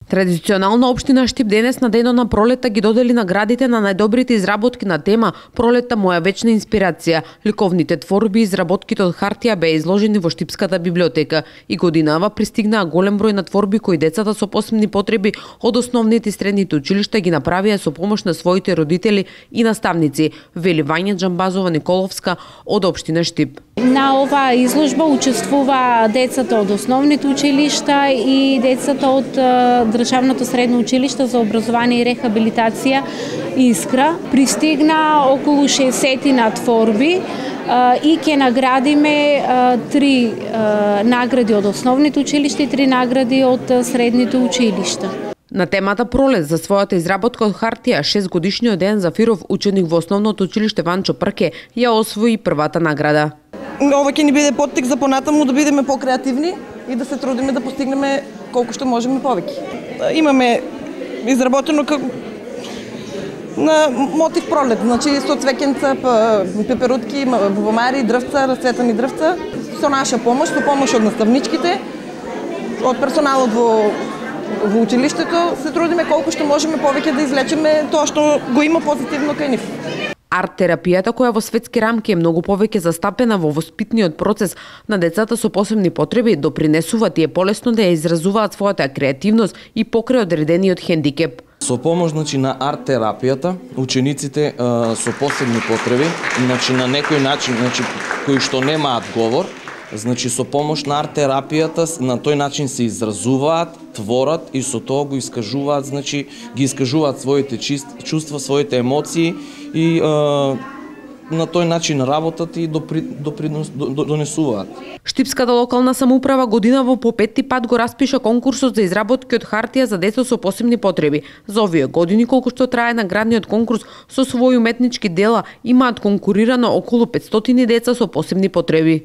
Традиционално општина Штип денес на денот на пролетта ги додели наградите на најдобрите изработки на тема "Пролетта моја вечна инспирација". Ликовните творби и изработките од хартија беа изложени во Штипската библиотека и годинава пристигнаа голем број на творби кои децата со посебни потреби од основните и средните училишта ги направија со помош на своите родители и наставници, вели Вања Џамбазова Николовска од општина Штип. На оваа изложба учествува децата од основните училишта и децата од Државното средно училиште за образование и рехабилитација Искра. Пристигна околу 60 на творби и ќе наградиме 3 награди од основните училишта и 3 награди од средните училишта. На темата Пролет за својата изработка од хартија, 6-годишниот Дејан Зафиров, ученик во основното училиште Ванчо Прке, ја освои првата награда. Ова ќе ни биде поттик за понатаму да бидеме покреативни и да се трудиме да постигнеме колку што можеме повеќе. Имаме изработено на мотив Пролет, значи со цвеќенца, пеперутки, бубамари, дрвца, расцветани дрвца, со наша помош, со помош од наставничките, од персоналот во училиштето, се трудиме колку што можеме повеќе да извлечеме тоа што го има позитивно кај нив. Арт-терапијата, која во светски рамки е многу повеќе застапена во воспитниот процес на децата со посебни потреби, допринесува тие полесно да ја изразуваат својата креативност и покрај одредениот хендикеп. Со помош на арт-терапијата, учениците со посебни потреби, на некој начин, кои што немаат говор, со помош на арт-терапијата, на тој начин се изразуваат, творат и со тоа го искажуваат, ги искажуваат своите чувства, своите емоции и на тој начин работат и донесуваат. Штипската локална самоуправа годинава по 5-ти пат го распиша конкурсот за изработки од хартија за деца со посебни потреби. За овие години, колку што трае наградниот конкурс, со своји уметнички дела имаат конкурирано околу 500 деца со посебни потреби.